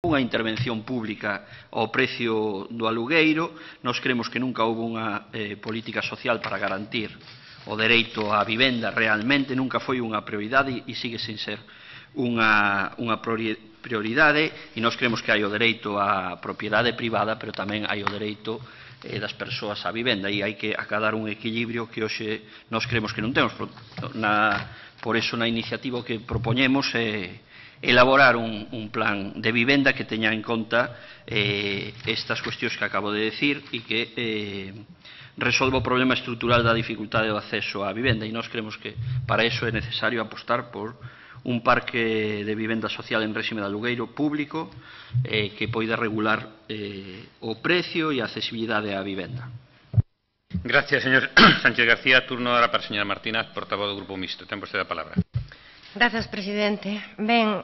unha intervención pública ao precio do alugueiro. Nós creemos que nunca houve unha política social para garantir o dereito á vivenda realmente, nunca foi unha prioridade e sigue sen ser unha prioridade, e nós creemos que hai o dereito á propiedade privada, pero tamén hai o dereito das persoas á vivenda, e hai que acadar un equilibrio que hoxe nós creemos que non temos. Por iso na iniciativa que propoñemos é elaborar un plan de vivenda que teña en conta estas cuestións que acabo de decir e que resolva o problema estrutural da dificultade do acceso á vivenda, e nós creemos que para iso é necesario apostar por un parque de vivenda social en réxime de alugueiro público que poida regular o precio e a accesibilidade á vivenda. Gracias, señor Sánchez García. Turno ahora para a señora Martínez, portavoz do Grupo Mixto. Ten vostede a palabra. Grazas, presidente. Ben,